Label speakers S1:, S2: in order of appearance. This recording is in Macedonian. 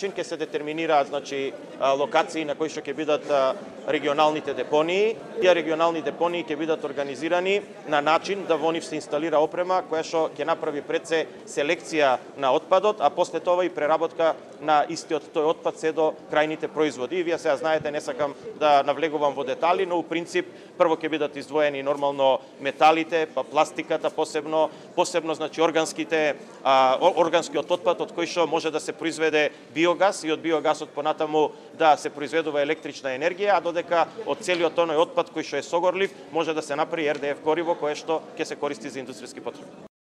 S1: начин ќе се детерминираат локации на кои што ќе бидат регионалните депонии. Тие регионални депонии ќе бидат организирани на начин да во нив се инсталира опрема која што ќе направи пред се селекција на отпадот, а после тоа и преработка на истиот тој отпад се до крајните производи. И вие сега знаете, не сакам да навлегувам во детали, но у принцип прво ќе бидат издвоени нормално металите, па пластиката посебно органскиот отпад од кој што може да се произведе биогаз и од биогасот понатаму да се произведува електрична енергија, а додека од целиот оној отпад кој што е согорлив може да се направи РДФ гориво кое што ќе се користи за индустријски потреби.